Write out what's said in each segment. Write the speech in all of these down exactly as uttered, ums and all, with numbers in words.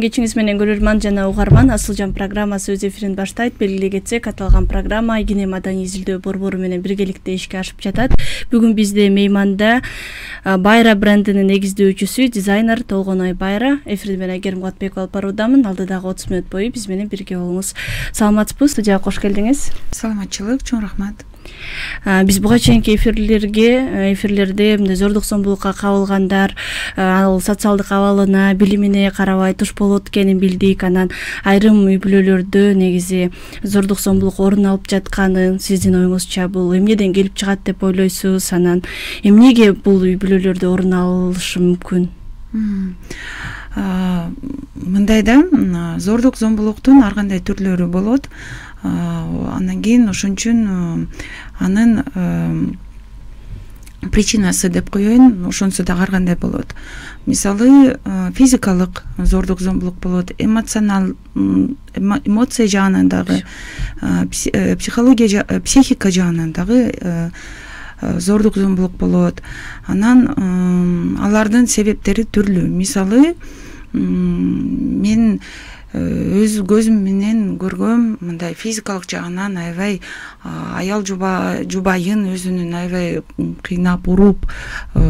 кечиңиз менен көрөрман жана угарман. Асылжан программасы өз эфирин баштайт. Белгилей кетсек, аталган программа Игине маданий изилдөө борбору менен биргеликте ишке ашып жатат. Бүгүн бизде мейманда Байра брендинин негиздөөчүсү, дизайнер Толгоной Байра. Эфирди мен Айгерим Кулатбекова алып баруудамын. Алдыдагы отуз мүнөт бою биз менен бирге болуңуз. Саламатсызбы? Студияга кош келдиңиз. Саламатчылык, чоң рахмат. Биз буга чейинки эфирлерге эфирлерде мындай зордук зомбулукка кабылгандар, ал социалдык абалына, билимине карабай туш болот экенин билдик. Анан айрым үй бүлөлөрдө негизи зордук зомбулук орун алып жатканын сиздин оюңузча бул эмнеден келип чыгат деп ойлойсуз? Анан эмнеге бул үй бүлөлөрдө орун алышы мүмкүн? Мындай да, зордук зомбулуктун ар кандай түрлөрү болот. Андан кийин ошон үчүн анын причинасы деп коеюн, ошонсу да ар кандай болот. Мисалы, физикалык зордук зомбулук болот, эмоционал эмоция жагынан дагы, психология психика жагынан дагы зордук зомбулук болот. Анан алардын себептери түрлүү. Мисалы, мен өз көзүм менен көргөм, мындай физикалык жагынан аябай аял жубайын өзүнүн аябай кыйнап, уруп,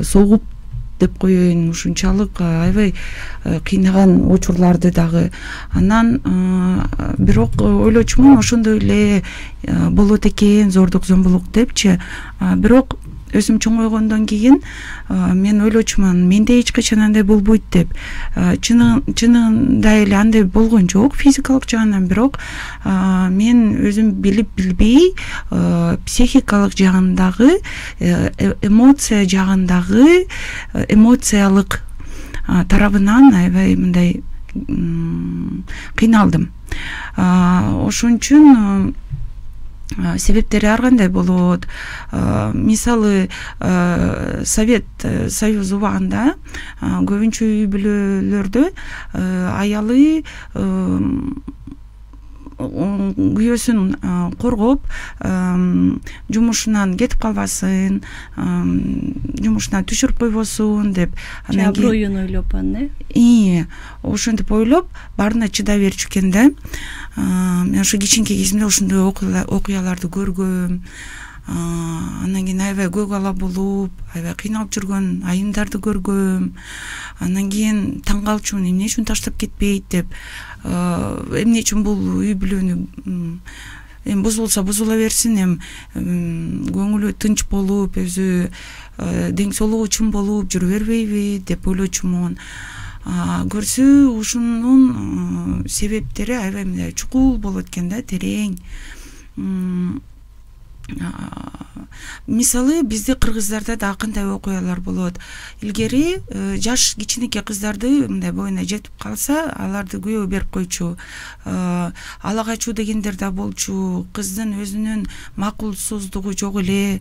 согуп деп коеюн, ушунчалык аябай кыйнаган учурларды дагы. Анан бирок ойлочумун, ошондой эле болот экен зордук зомбулук депчи. Бирок өзүм чоңойгондон кийин мен ойлочумун, менде эч качан андай болбойт деп. Чынында эле андай болгон жок физикалык жагынан, бирок мен өзүм билип билбей психикалык жагындагы, эмоция жагындагы, эмоциялык тарабынан аябай мындай кыйналдым. Ошон үчүн себептери ар кандай болот. Мисалы, Совет Союз убагында көбүнчө үй бүлөлөрдө аялы күйөөсүн коргоп, жумушунан кетип калбасын, жумушунан түшүрүп койбосун деп, анан аброюн ойлоп, э? Ии, ошентип ойлоп, баарына чыдай берчү экен да. Мен ошо кичинекей кезимде ошондой окуяларды көргөм. Анан кийин аябай көк ала болуп, аябай кыйналып жүргөн айымдарды көргөм. Анан кийин таң калчумун, эмне үчүн таштап кетпейт деп. Эмне үчүн бул үй бүлөнү эми бузулса бузула берсин, эми көңүлү тынч болуп, өзү дең соолугу чың болуп жүрө бербейби деп ойлочумун. Көрсө ушунун себептери аябай мындай чукул болот экен да, терең. Мисалы, бизде кыргыздарда да кандай окуялар болот. Илгери жаш кичинекей кыздарды мындай боюна жетип калса, аларды күйөө берип койчу. Ала качуу дегендер да болчу. Кыздын өзүнүн макулсуздугу жок эле,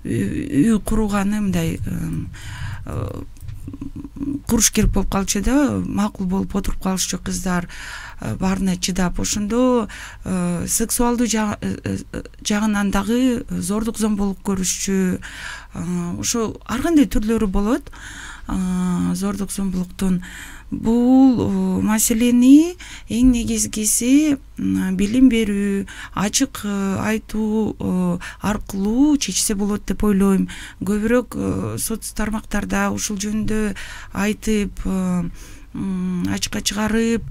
үй курганы мындай куруш керек болуп калчу да, макул болуп отуруп калышчу кыздар баарына чыдап. Ошондо сексуалдуу жагынан дагы зордук зомбулук көрүшчү. Ошо ар кандай түрлөрү болот зордук зомбулуктун. Бул маселени эң негизгиси билим берүү, ачык айтуу аркылуу чечсе болот деп ойлойм. Көбүрөөк соц тармактарда ушул жөнүндө айтып, ачыкка чыгарып,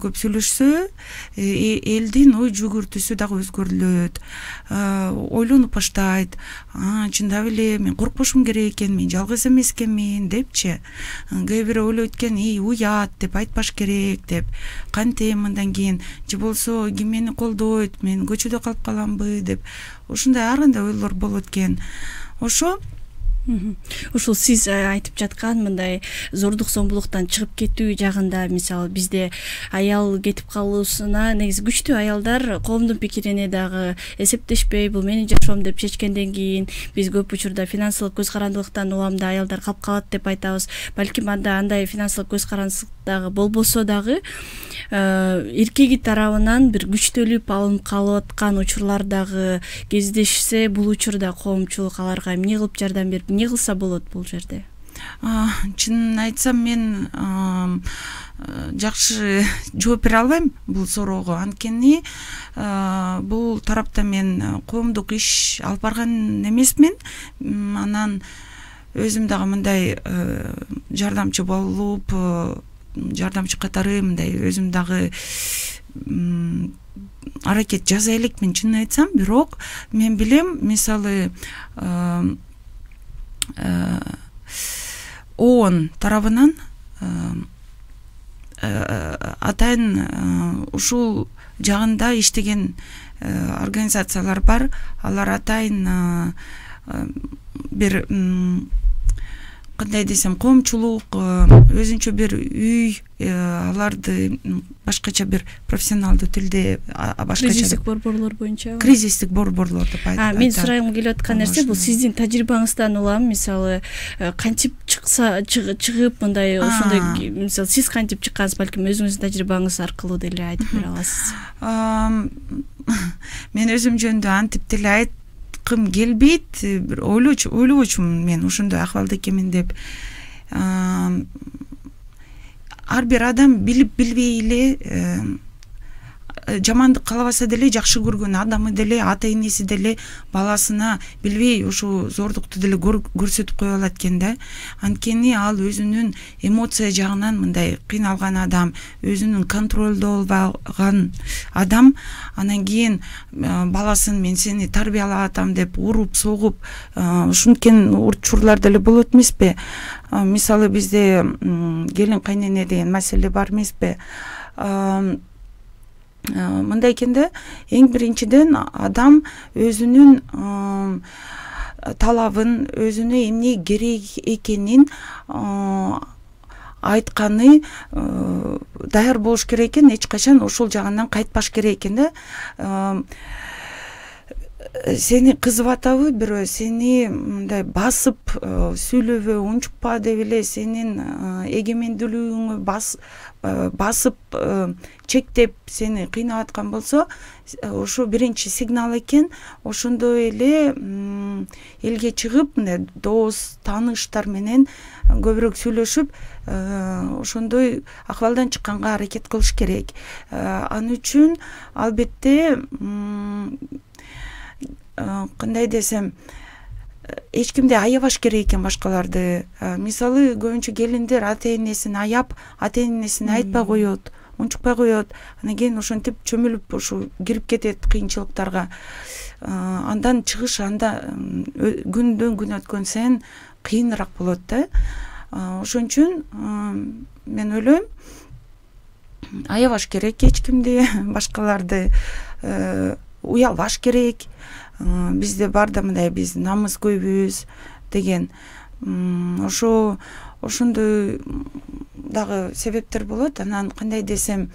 көп сүйлөшсө, элдин ой жүгүртүүсү дагы өзгөрүлөт. Ойлонуп баштайт. Чындап эле мен коркпошум керек экен, мен жалгыз эмес экенмин депчи. Кээ бирөө ойлойт экен, "Ий, уят" деп айтпаш керек деп. Кантем андан кийин, же болсо ким мени колдойт, мен көчөдө калып каламбы деп. Ошондой ар кандай ойлор болот экен. Ошо Ушул сиз айтып жаткан мындай зордук зомбулуктан чыгып кетүү жагында, мисалы, бизде аял кетип калуусуна негизи күчтүү аялдар коомдун пикирине дагы эсептешпей, бул менин жашоом деп чечкенден кийин биз көп учурда финансылык көз карандылыктан уламда аялдар калып калат деп айтабыз. Балким анда андай финансылык көз карандылык дагы болбосо дагы эркеги тарабынан бир күчтөлүп алынып калып аткан учурлар дагы кездешсе, бул учурда коомчулук аларга эмне кылып жардам берип, эмне кылса болот бул жерде? чынын айтсам мен жакшы жооп бере албайм бул суроого, анткени бул тарапта мен коомдук иш алып барган эмесмин. Анан өзүм дагы мындай жардамчы болуп, жардамчы катары мындай өзүм дагы аракет жасай элекмин чынын айтсам. Бирок мен билем, мисалы ООН тарабынан атайын ушул жагында иштеген организациялар бар. Алар атайын бир кандай десем, коомчулук, өзүнчө бир үй, аларды башкача бир профессионалдуу тилде башкача кризистик борборлор боюнча кризистик борборлор деп айтат. Мен сурагым келип аткан нерсе бул сиздин тажрыйбаңыздан улам, мисалы кантип чыкса чыгып мындай ошондой, мисалы сиз кантип чыккансыз, балким өзүңүздүн тажрыйбаңыз аркылуу деле айтып бере аласыз. Мен өзүм жөнүндө антип деле айт кым келбейт, бир ойлочу ойлобочумун мен ошондой акыбалда экенмин деп. Ар бир адам билип билбей эле, жамандык каалабаса деле, жакшы көргөн адамы деле, ата энеси деле баласына билбей ушул зордукту деле көрсөтүп кое алат экен да. Анткени ал өзүнүн эмоция жагынан мындай кыйналган адам, өзүнүн контролдо албаган адам, анан кийин баласын мен сени тарбиялап атам деп уруп, согуп, ушинткен учурлар деле болот эмеспи? Мисалы бизде келин кайнене деген маселе бар эмеспи? Мындай экен да, эң биринчиден адам өзүнүн талабын, өзүнө эмне керек экенин айтканы даяр болуш керек экен, эч качан ошол жагынан кайтпаш керек экен да. Сени кызып атабы бирөө, сени мындай басып сүйлөбө, унчукпа деп эле сенин эгемендүүлүгүңө басып чектеп сени кыйнап аткан болсо, ошо биринчи сигнал экен. Ошондой эле элге чыгып, мындай дос, тааныштар менен көбүрөөк сүйлөшүп, ошондой акыбалдан чыкканга аракет кылыш керек. Ал үчүн албетте кандай десем, эч кимди аябаш керек экен башкаларды. Мисалы көбүнчө келиндер ата энесин аяп, ата энесине айтпай коет, унчукпай коет. Анан кийин ошентип чөмүлүп ушу кирип кетет кыйынчылыктарга. Андан чыгыш анда күндөн күн өткөн сайын кыйыныраак болот да. Ошон үчүн мен ойлойм, аябаш керек эч кимди, башкаларды уялбаш керек. Бизде бар да мындай, биз намыс көйбүз деген. Ошо ошондой дагы себептер болот. Анан кандай десем,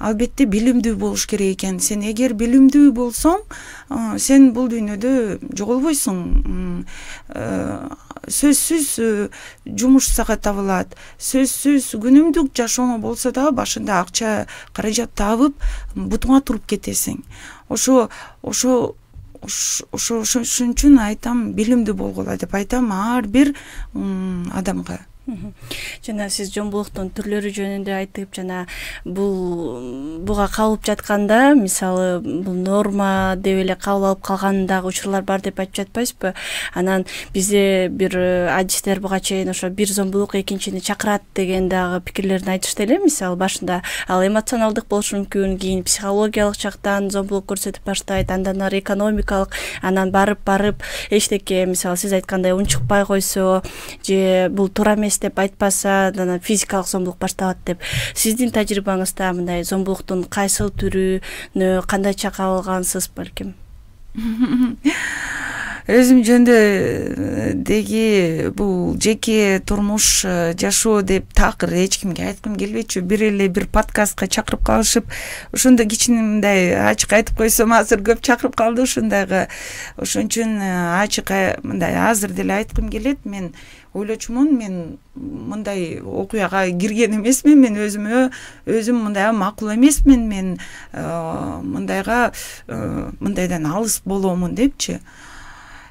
албетте билимдүү болуш керек экен. Сен эгер билимдүү болсоң, сен бул дүйнөдө жоголбойсуң. Сөзсүз жумуш сага табылат. Сөзсүз күнүмдүк жашооңо болсо да башында акча каражат табып, бутуңа туруп кетесиң. Ошо ошо ошо ошон үчүн айтам, билимдүү болгула деп айтам ар бир адамга. Жана сиз жомбулуктун түрлөрү жөнүндө айтып, жана бул буга кабылып жатканда, мисалы бул норма деп эле кабыл алып калган дагы учурлар бар деп айтып жатпайсызбы? Анан бизде бир адистер буга чейин ошо бир зомбулук экинчини чакырат деген дагы пикирлерин айтышты эле. Мисалы башында ал эмоционалдык болушу мүмкүн, кийин психологиялык жактан зомбулук көрсөтүп баштайт, андан ары экономикалык, анан барып барып эчтеке, мисалы сиз айткандай унчукпай койсо же бул туура эмес деп айтпаса, анан физикалык зомбулук башталат деп. Сиздин тажрыйбаңызда мындай зомбулуктун кайсыл түрүнө кандайча кабылгансыз балким? Өзүм жөнүндө деги бул жеке турмуш жашоо деп такыр эч кимге айткым келбейчү. Бир эле бир подкастка чакырып калышып, ошондо кичине мындай ачык айтып койсом, азыр көп чакырып калды ушундайга. Ошон үчүн ачык мындай азыр деле айткым келет. Мен ойлочумун, мен мындай окуяга кирген эмесмин, мен өзүмө өзүм мындай макул эмесмин, мен мындайга мындайдан алыс боломун депчи.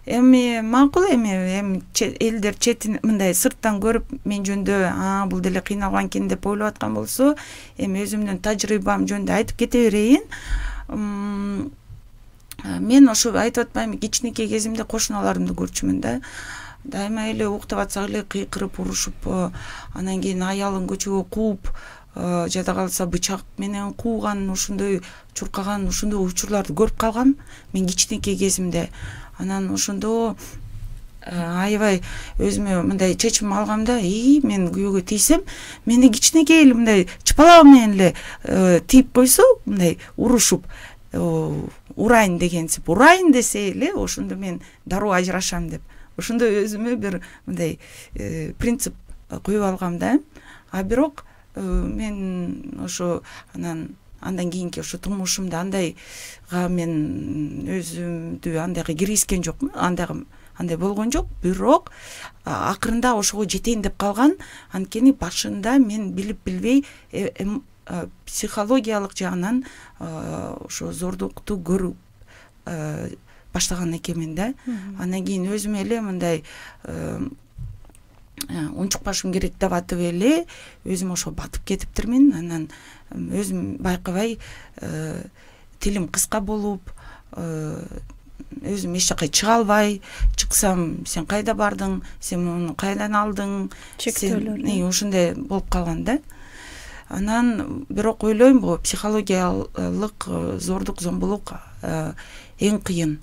эми макул, эми эми элдер четин мындай сырттан көрүп мен жөнүндө а бул деле кыйналган экен деп ойлоп аткан болсо, эми өзүмдүн тажрыйбам жөнүндө айтып кете берейин. Мен ошо айтып атпаймынбы, кичинекей кезимде кошуналарымды көрчүмүн да. Дайыма эле уктап атсак эле кыйкырып, урушуп, анан кийин аялын көчөгө кууп, жада калса бычак менен кууган, ошондой чуркаган, ошондой учурларды көрүп калгам мен кичинекей кезимде. Анан ошондо аябай өзүмө мындай чечим алгам да, и мен күйөөгө тийсем, мени кичинекей эле мындай чыпалак менен эле тийип койсо, мындай урушуп, урайын дегенсип, урайын десе эле ошондо мен дароо ажырашам деп. Ошондо өзүмө бир мындай принцип коюп алгам да. А бирок мен ошо анан андан кийинки ошо турмушумда андайга мен өзүмдү андайга киргизген жокмун, андайга андай болгон жок. Бирок акырында ошого жетейин деп калган. Анткени башында мен билип билбей психологиялык жагынан ошо зордукту көрүп баштаган экенмин да. Андан кийин өзүм эле мындай унчукпашым керек деп атып эле өзүм ошо батып кетиптирмин. Анан өзүм байкабай тилим кыска болуп, өзүм эч жака чыга албай, чыксам сен кайда бардың, сен муну кайдан алдың, чектөөлөр ошондой болуп калган да. Анан бирок ойлойм, бул психологиялык зордук зомбулук эң кыйын.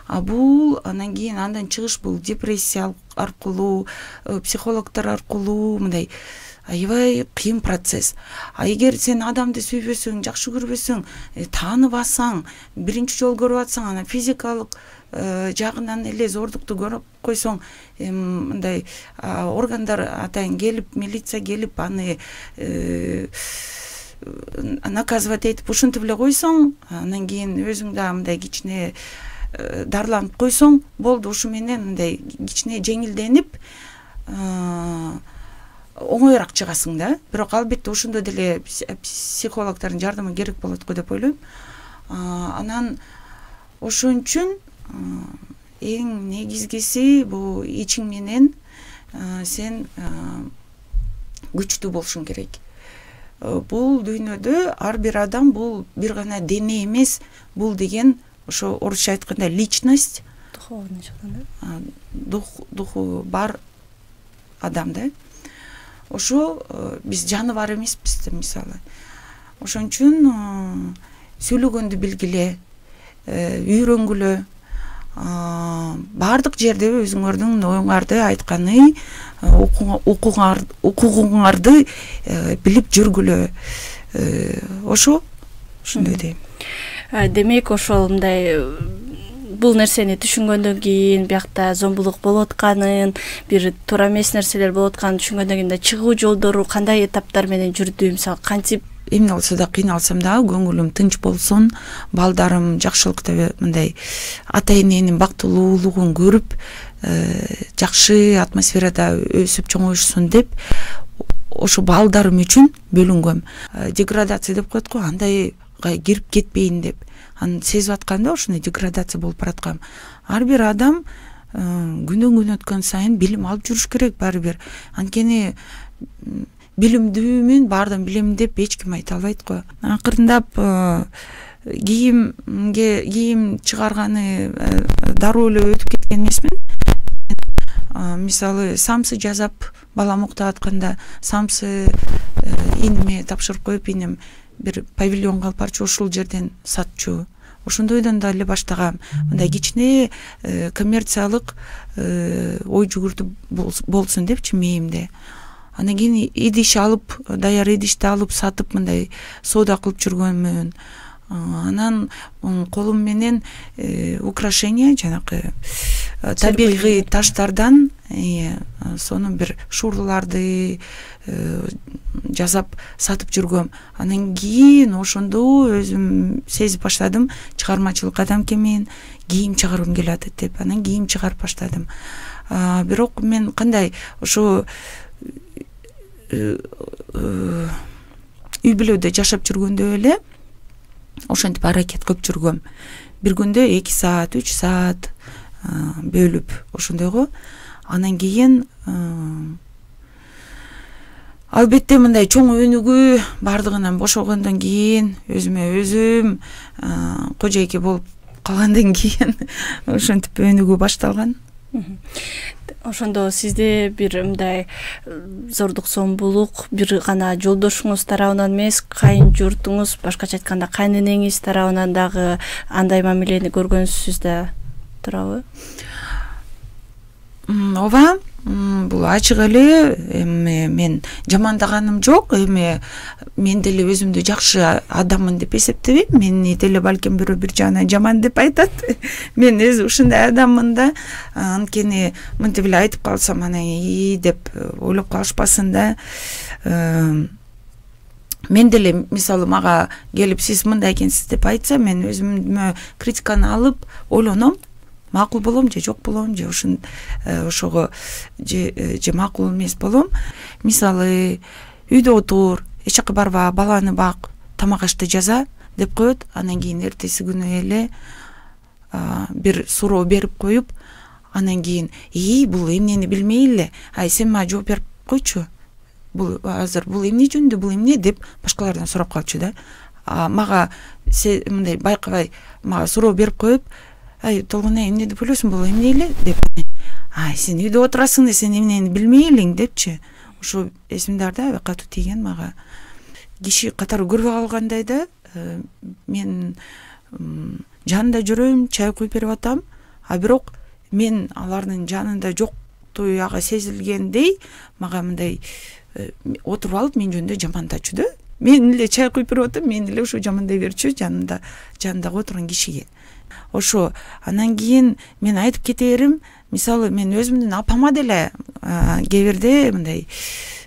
А бул анан кийин андан чыгыш бул депрессия аркылуу, психологдор аркылуу мындай аябай кыйын процесс. А эгер сен адамды сүйбөсөң, жакшы көрбөсөң, тааныбасаң, биринчи жолу көрүп атсаң, анан физикалык жагынан эле зордукту көрүп койсоң, мындай органдар атайын келип, милиция келип, аны наказывать этип ушинтип эле койсоң, анан кийин өзүң да мындай кичине дарыланып койсоң, болду, ушу менен мындай кичине жеңилденип оңоюраак чыгасың да. Бирок албетте ошондо деле психологдордун жардамы керек болот го деп ойлойм. Анан ошон үчүн эң негизгиси бул ичиң менен сен күчтүү болушуң керек. Бул дүйнөдө ар бир адам бул бир гана дене эмес, бул деген ошо орусча айтканда личность, духовный жактан да, духу бар адам да. Ошо биз жаныбар эмеспиз да, мисалы. Ошон үчүн сүйлөгөндү билгиле, үйрөнгүлө, баардык жерде өзүңөрдүн оюңарды айтканы, укугуңарды билип жүргүлө. Ошо ошондой дейм. Демек ошол мындай бул нерсени түшүнгөндөн кийин, биякта зомбулук болуп атканын, бир туура эмес нерселер болуп атканын түшүнгөндөн кийин да чыгуу жолдору кандай этаптар менен жүрдү? Мисалы, кантип эмне болсо да кыйналсам да көңүлүм тынч болсун, балдарым жакшылыкта мындай ата эненин бактылуулугун көрүп, жакшы атмосферада өсүп чоңоюшсун деп ошо балдарым үчүн бөлүнгөм. Деградация деп коет го, андайга кирип кетпейин деп. Аны сезип атканда ошондой деградация болуп бараткан. Ар бир адам күндөн күн өткөн сайын билим алып жүрүш керек баары бир. Анткени билимдүүмүн, баардан билем деп эч ким айта албайт го. Акырындап кийимге кийим чыгарганы дароо эле өтүп кеткен эмесмин. Мисалы, самсы жасап балам уктап атканда самсы иниме тапшырып коюп, иним бир павильонго алып барчу, ошол жерден сатчу. Ошондойдон да эле баштагам. Мындай кичине коммерциялык ой жүгүртүп болсун депчи мээмде. Анан кийин идиш алып, даяр идишти алып сатып мындай соода кылып жүргөнмүн. Анан колум менен украшение, жанакы табигый таштардан сонун бир шурларды жасап сатып жүргөм. Анан кийин ошондо өзүм сезип баштадым, чыгармачылык адам экенмин, кийим чыгаргым келет деп. Анан кийим чыгарып баштадым. Бирок мен кандай ошо үй бүлөдө жашап жүргөндө эле ошентип аракет кылып жүргөм. Бир күндө эки саат, үч саат бөлүп ошондойго. Анан кийин албетте мындай чоң өнүгүү бардыгынан бошогондон кийин өзүмө өзүм кожойке болуп калгандан кийин ошентип өнүгүү башталган. Ошондо сизде бир мындай зордук зомбулук бир гана жолдошуңуз тарабынан эмес, кайын журтуңуз, башкача айтканда кайненеңиз тарабынан дагы андай мамилени көргөнсүз да туурабы? Ооба, бул ачык эле. Эми мен жамандаганым жок. Эми мен деле өзүмдү жакшы адаммын деп эсептебейм. Мени деле балким бирөө бир жагынан жаман деп айтат. Мен өзү ушундай адаммын да. Анткени мынтип эле айтып калсам анан и деп ойлоп калышпасын да. Мен деле мисалы мага келип сиз мындай экенсиз деп айтса, мен өзүмө критиканы алып ойлоном. Макул болом же жок болом, же ушун ошого же же макул эмес болом. Мисалы үйдө отур, эч жака барба, баланы бак, тамак ашты жаза деп коет. Анан кийин эртеси күнү эле бир суроо берип коюп, анан кийин и бул эмнени билмей эле, ай сен мага жооп берип койчу. Бул азыр бул эмне жөнүндө, бул эмне деп башкалардан сурап калчу да. Мага мындай байкабай мага суроо берип коюп, ай Толгонай эмне деп ойлойсуң, бул эмне эле деп. Ай сен үйдө отурасың да сен эмнени билмей элең депчи. Ошо эсимде бар да, катуу тийген мага. Киши катары көрбөй калгандай да, мен жанында жүрөм, чай куюп берип атам, а бирок мен алардын жанында жоктуу ага сезилгендей мага мындай отуруп алып мен жөнүндө жамандачу да. Мен эле чай куюп берип атам, мен эле ошо жамандай берчү жанында жанындагы отурган кишиге. Ошо анан кийин мен айтып кетерим, мисалы мен өзүмдүн апама деле кээ бирде мындай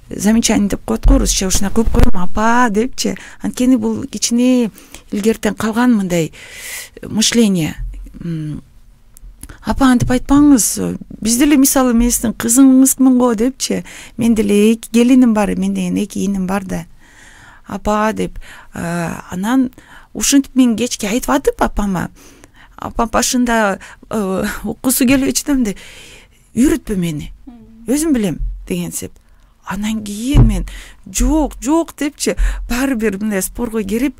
замечание деп коет го орусча, ушундай кылып коем, апа депчи. Анткени бул кичине илгертен калган мындай мышление. Апа антип айтпаңыз, биз деле мисалы мен сиздин кызыңызмын го депчи. Мен деле эки келиним бар, мен деген эки иним бар да. Апа деп анан ушинтип мен кечке айтып атып апама, апам башында уккусу келбечү да, мындай үйрөтпө мени, өзүм билем дегенсип. Анан кийин мен жок жок депчи, баары бир мындай спорго кирип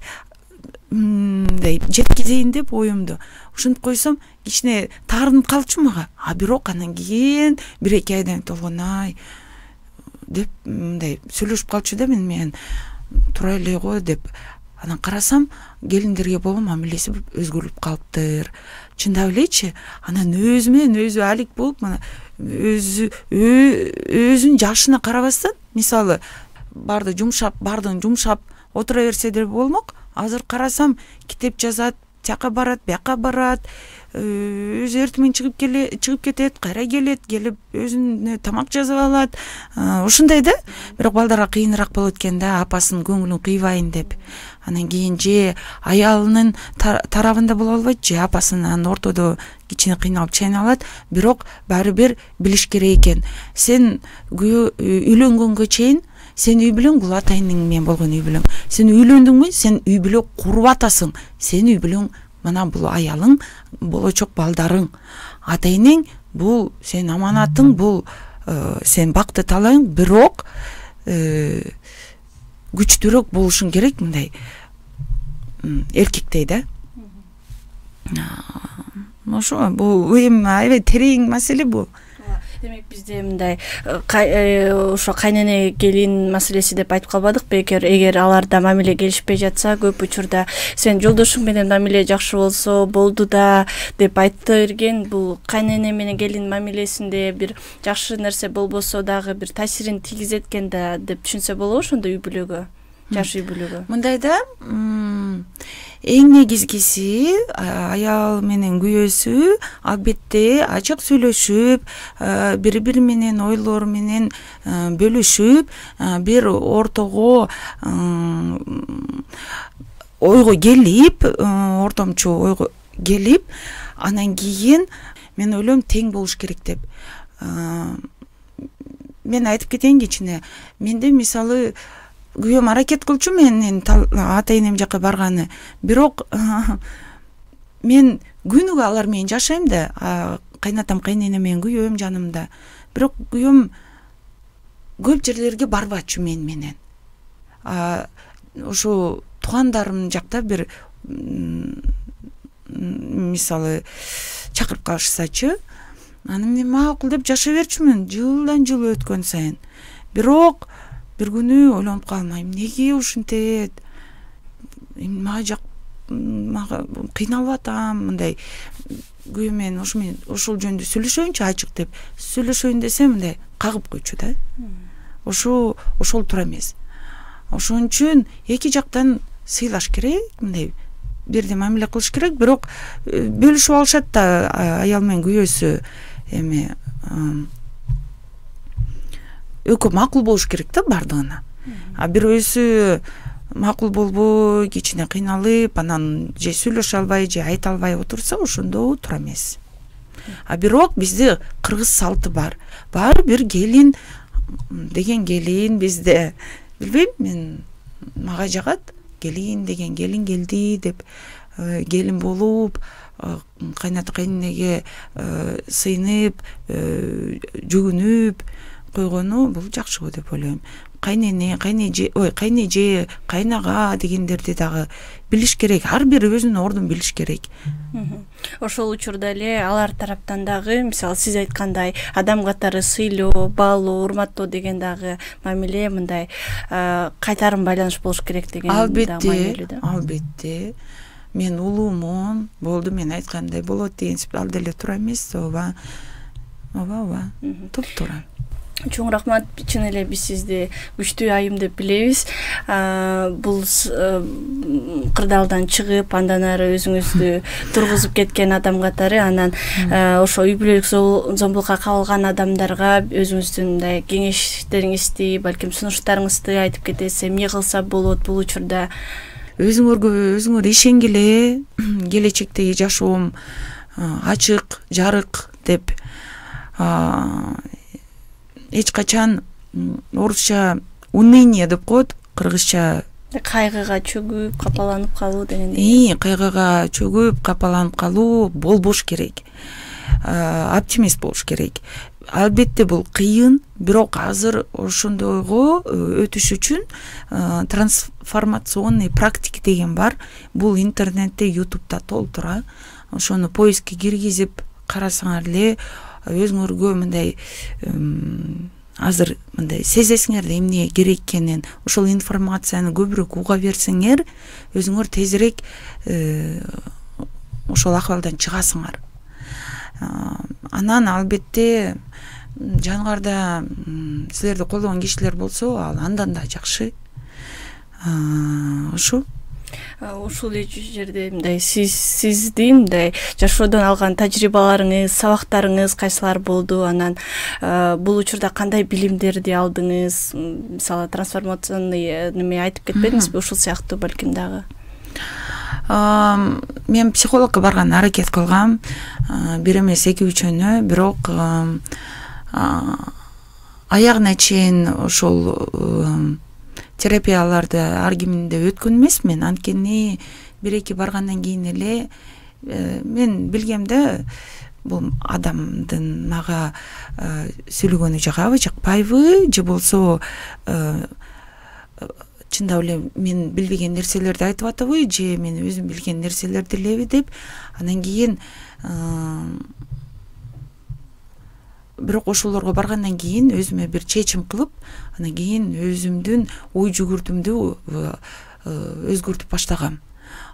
мындай жеткизейин деп оюмду ушинтип койсом, кичине таарынып калчу мага. А бирок анан кийин бир эки айдан Толгонай деп мындай сүйлөшүп калчу да мен менен, тура эле го деп. Анан карасам, келиндерге болгон мамилеси өзгөрүлүп калыптыр. Чындап элечи. Анан өзү менен өзү алик болуп, мына өзү өзүнүн жашына карабастан, мисалы барды жумшап, бардын жумшап отура берсе деле болмок. Азыр карасам, китеп жазат, тияка барат, бияка барат, өзү эртең менен чыгып келе чыгып кетет, кайра келет, келип өзүнө тамак жазып алат. Ушундай да. Бирок балдарга кыйыныраак болот экен да, апасынын көңүлүн кыйбайын деп. Анан кийин же аялынын тарабында боло албайт, же апасынын ортодо кичине кыйналып чайналат. Бирок баары бир билиш керек экен. Сен үйлөнгөнгө чейин сен үй бүлөң бул атайының менен болгон үй бүлөң. Сен үйлөндүңбү, сен үй бүлө куруп атасың. Сен үй бүлөң мына бул аялың, болочок балдарың. Ата-энең бул сен аманатың, бул сен бакты талайың, бирок күчтүүрөөк болушуң керек, мындай эркектей да. Ошо бул эми аябай терең маселе бул. Демек бизде мындай ошо кайнене келин маселеси деп айтып калбадык бекер. Эгер аларда мамиле келишпей жатса, көп учурда сен жолдошуң менен мамиле жакшы болсо болду да деп айта берген. Бул кайнене менен келин мамилесинде бир жакшы нерсе болбосо дагы бир таасирин тийгизет экен да деп түшүнсө болобу ошондо үй бүлөгө, жаш үй бүлөгө. Мындай да, эң негизгиси аял менен күйөөсү албетте ачык сүйлөшүп, бири бири менен ойлор менен бөлүшүп, бир ортого ойго келип, ортомчу ойго келип, анан кийин мен ойлойм тең болуш керек деп. Мен айтып кетейин кичине. Менде мисалы күйөөм аракет кылчу менин ата-энем жака барганы. Бирок мен күнүгө алар менен жашайм да, кайнатам кайнене менен күйөөм жанымда, бирок күйөөм көп жерлерге барбачу мен менен. Ошо туугандарым жакта бир мисалы чакырып калышсачы, аны мен макул деп жашай берчүмүн жылдан жыл өткөн сайын. Бирок бир күнү ойлонуп калдым, эмнеге ушинтет, мага жак мага кыйналып атам, мындай күйөөм менен ошо мен ошол жөнүндө сүйлөшөйүнчү ачык деп сүйлөшөйүн десем мындай кагып койчу да. Ошо ошол туура эмес. Ошон үчүн эки жактан сыйлаш керек, мындай бирдей мамиле кылыш керек, бирок бөлүшүп алышат да аял менен күйөөсү, эми экөө макул болуш керек да бардыгына. А бирөөсү макул болбой, кичине кыйналып, анан же сүйлөшө албай, же айта албай отурса, ошондо туура эмес. А бирок бизде кыргыз салты бар. Бар бир келин деген келин бизде. Билбейм, мен мага жагат. Келин деген келин келди деп келин болуп, кайната кайненеге сыйынып, жүгүнүп койгону бул жакшы го деп ойлойм. Кайнене, кайнеже, ой, кайнеже, кайнага дегендерди дагы билиш керек. Ар бир өзүнүн ордун билиш керек. Ошол учурда эле алар тараптан дагы, мисалы сиз айткандай, адам катары сыйлоо, баалоо, урматтоо деген дагы мамиле, мындай кайтарым байланыш болуш керек деген дагы мамиле да. Албетте. Мен улуумун, болду, мен айткандай болот деген ал деле туура эмес, ооба. Ооба, ооба. Туп-туура. Чоң рахмат, чын эле биз сизди күчтүү айым деп билебиз. Бул кырдаалдан чыгып, андан ары өзүңүздү тургузуп кеткен адам катары, анан ошо үй бүлөлүк зомбулукка кабылган адамдарга өзүңүздүн мындай кеңештериңизди, балким сунуштарыңызды айтып кетесиз, эмне кылса болот бул учурда? Өзүңөргө өзүңөр ишенгиле, келечектеги жашоом ачык, жарык деп эч качан орусча уныние деп коет, кыргызча кайгыга чөгүп, капаланып калуу дегендей. Ии, кайгыга чөгүп, капаланып калуу болбош керек. Оптимист болуш керек. Албетте бул кыйын, бирок азыр ошондойго өтүш үчүн трансформационный практика деген бар. Бул интернетте, ютубта толтура. Ошону поискке киргизип карасаңар эле өзүңөргө мындай азыр мындай сезесиңер да эмне керек экенин, ошол информацияны көбүрөөк уга берсеңер, өзүңөр тезирээк ошол акыбалдан чыгасыңар. Анан албетте жаныңарда силерди колдогон кишилер болсо, ал андан да жакшы. Ошо ушул жерде мындай сиз сиздин мындай жашоодон алган тажрыйбаларыңыз, сабактарыңыз кайсылар болду? Анан бул учурда кандай билимдерди алдыңыз? Мисалы трансформационный неме айтып кетпедиңизби? Ушул сыяктуу балким дагы. Мен психологко барган аракет кылгам. Бир эмес эки үчөнө, бирок аягына чейин ошол терапияларды ар кимде өткөн эмесмин. Анткени бир эки баргандан кийин эле мен билгем да, бул адамдын мага сүйлөгөнү жагабы, жакпайбы, же болсо чындап эле мен билбеген нерселерди айтып атабы, же мен өзүм билген нерселерди элеби деп. Андан кийин бирок ошолорго баргандан кийин өзүмө бир чечим кылып, андан кийин өзүмдүн ой жүгүртүмдү өзгөртүп баштагам.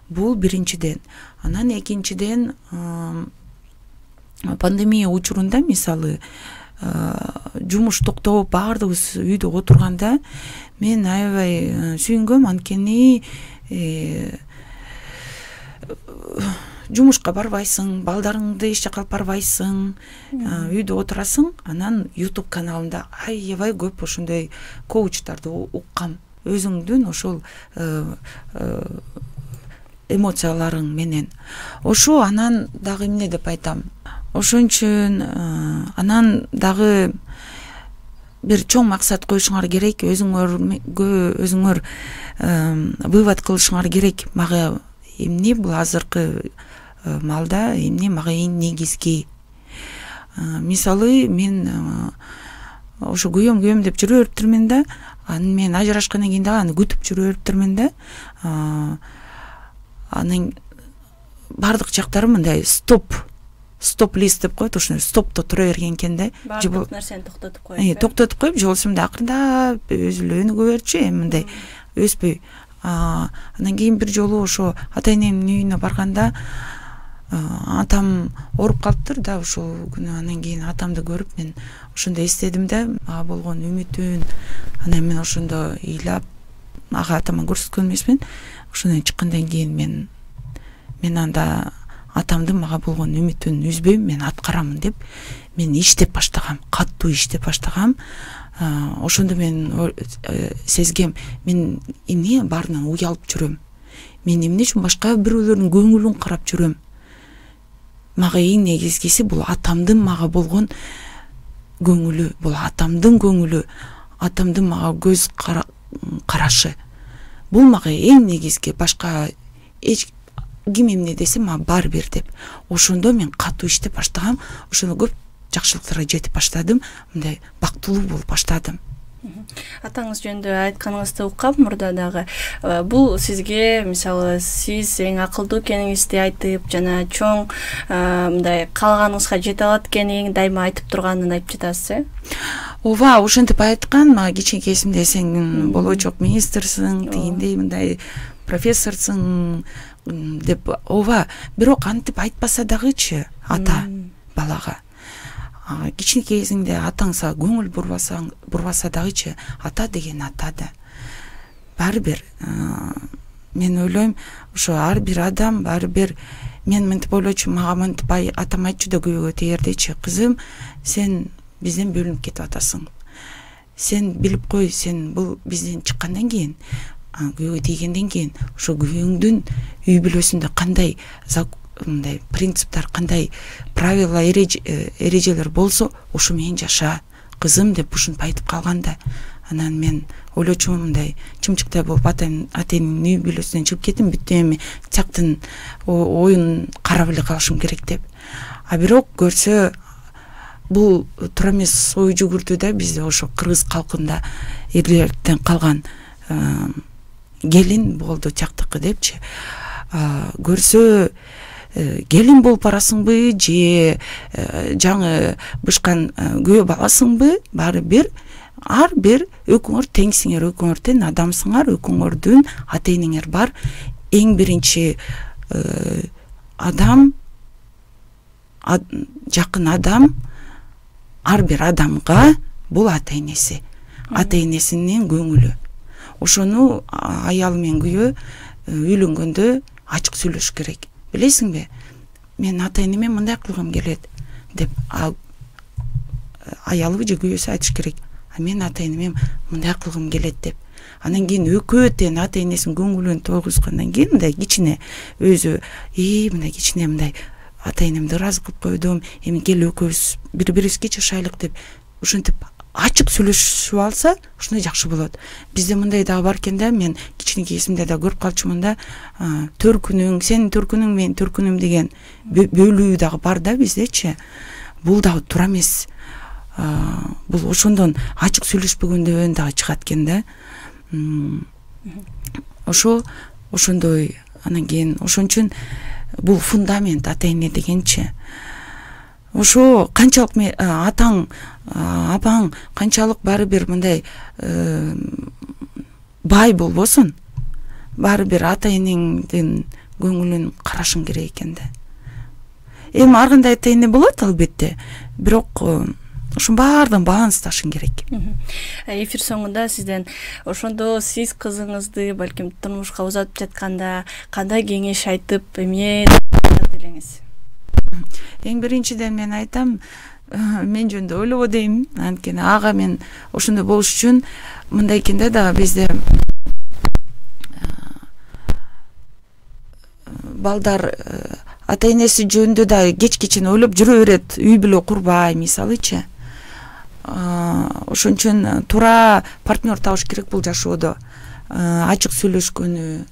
Бул биринчиден. Анан экинчиден пандемия учурунда, мисалы, жумуш токтоп баардыгыбыз үйдө отурганда мен аябай сүйүнгөм, анткени жумушка барбайсың, балдарыңды эч жака алып барбайсың, үйдө отурасың. Анан YouTube каналында аябай көп ошондой коучтарды уккам. Өзүңдүн ошол эмоцияларың менен. Ошо анан дагы эмне деп айтам? Ошон үчүн анан дагы бир чоң максат коюшуңар керек, өзүңөргө өзүңөр вывод кылышыңар керек. Мага эмне бул азыркы малда, эмне мага эң негизги? мисалы мен ошо күйөөм күйөөм деп жүрө бериптирмин да, анан мен ажырашкандан кийин дагы аны күтүп жүрө бериптирмин да. Анын бардык жактары мындай стоп стоп лист деп коет, ошондой стопто тура берген экен да. Бардык нерсени токтотуп коюп. Токтотуп коюп, же болбосо мындай акырындап өзүлө өнүгө берчү, эми мындай өспөй. Анан кийин бир жолу ошо ата энемдин үйүнө барганда атам ооруп калыптыр да ошол күнү. Анан кийин атамды көрүп мен ошондо эстедим да, ага болгон үмүтүн. Анан мен ошондо ыйлап ага атама көрсөткөн эмесмин. Ошондон чыккандан кийин мен мен анда атамды мага болгон үмүтүн үзбөйм, мен аткарамын деп мен иштеп баштагам, катуу иштеп баштагам. Ошондо мен сезгем, мен эмне баарынан уялып жүрөм, мен эмне үчүн башка бирөөлөрдүн көңүлүн карап жүрөм. Мага эң негизгиси бул атамдын мага болгон көңүлү, бул атамдын көңүлү, атамдын мага көз карашы. Бул мага эң негизги, башка эч ким эмне десе мага баары бир деп. Ошондо мен катуу иштеп баштагам, ошондо көп жакшылыктарга жетип баштадым, мындай бактылуу болуп баштадым. Атаңыз жөнүндө айтканыңызды уккам мурда дагы. Бул сизге, мисалы, сиз эң акылдуу экениңизди айтып, жана чоң мындай каалаганыңызга жете алат экенин дайыма айтып турганын айтып жатасыз, э? Ооба, ошентип айткан. Мага кичинекейсимде сен болочок министрсиң, тигиндей мындай профессорсуң деп. Ооба, бирок антип айтпаса дагычы ата балага. Кичинекейсиңде атаңса көңүл бурбасаң, бурбаса дагычы ата деген ата да. Баары бир мен ойлойм, ошо ар бир адам баары бир, мен мынтип ойлочу, мага мынтип атам айтчу да күйөөгө тегердечи, кызым, сен бизден бөлүнүп кетип атасың. Сен билип кой, сен бул бизден чыккандан кийин, күйөөгө тийгенден кийин, ошо күйөөңдүн үй бүлөсүндө кандай мындай принциптер, кандай правила, эрежелер болсо, ошо менен жаша, кызым деп ушинтип айтып калганда. Анан мен ойлочумун, мындай чымчыктай болуп атанын үй бүлөсүнөн чыгып кеттим, бүттү, эми тияктын оюн карап эле калышым керек деп. А бирок көрсө бул туура эмес ой жүгүрдү да, бизде ошо кыргыз калкында эрлерден калган келин болду тияктыкы депчи. Көрсө келин болуп барасыңбы же жаңы бышкан күйөө баласыңбы, баары бир, ар бир экөөңөр теңсиңер, экөөңөр тең адамсыңар, экөөңөрдүн ата энеңер бар. Эң биринчи адам, жакын адам, ар бир адамга бул ата энеси, ата энесинин көңүлү. Ошону аял менен күйөө үйлөнгөндө ачык сүйлөш керек. Билесиңби, мен ата энеме мындай кылгым келет деп аялыбы же күйөөсү айтыш керек. А мен ата энеме мындай кылгым келет деп. Анан кийин экөө тең ата энесинин көңүлүн тойгузгандан кийин мындай кичине өзү, и мындай кичине мындай ата энемди ыраазы кылып койдум, эми кел экөөбүз бири-бирибизге жашайлык деп ушинтип ачык сүйлөшүп алса, ушундай жакшы болот. Бизде мындай дагы бар экен да, мен кичинекейсимде да көрүп калчумун да, төркүнүң, сенин төркүнүң, менин төркүнүм деген бөлүү дагы бар да биздечи. Бул дагы туура эмес. Бул ошондон ачык сүйлөшпөгөндөн дагы чыгат экен да. Ошо ошондой. Анан кийин ошон үчүн бул фундамент ата эне дегенчи. Ошо канчалык атаң, апаң канчалык баары бир мындай бай болбосун, баары бир ата энеңдин көңүлүн карашың керек экен да. Эми ар кандай ата эне болот албетте, бирок ошонун баардыгын балансташың керек. Эфир соңунда сизден ошондо сиз кызыңызды балким турмушка узатып жатканда кандай кеңеш айтып, эмне элеңиз? Эң биринчиден мен айтам, мен жөнүндө ойлобо дейм. Анткени ага мен ошондой болуш үчүн мындай экен да, дагы бизде балдар ата энеси жөнүндө да кеч-кечин ойлоп жүрө берет, үй бүлө курбай, мисалычы. Ошон үчүн туура партнер табыш керек бул жашоодо. Ачык сүйлөшкөнү,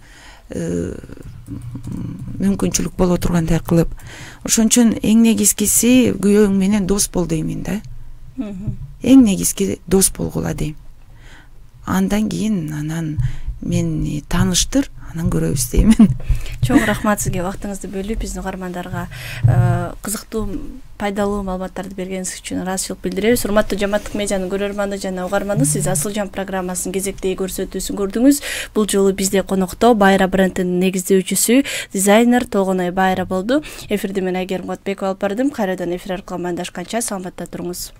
мүмкүнчүлүк боло тургандай кылып. Ошон үчүн эң негизгиси күйөөң менен дос бол деймин да. Эң негизги дос болгула дейм. Андан кийин анан мени тааныштыр, анан көрөбүз деймин. Чоң рахмат сизге убактыңызды бөлүп биздин угармандарга кызыктуу, пайдалуу маалыматтарды бергениңиз үчүн ыраазычылык билдиребиз. Урматтуу Жамааттык медианын көрөрманы жана угарманы, сиз Асылжан программасынын кезектеги көрсөтүүсүн көрдүңүз. Бул жолу бизде конокто Байра брендинин негиздөөчүсү, дизайнер Толгоной Байра болду. Эфирди мен Айгерим Котбекова алып бардым. Кайрадан эфир аркылуу амандашканча саламатта туруңуз.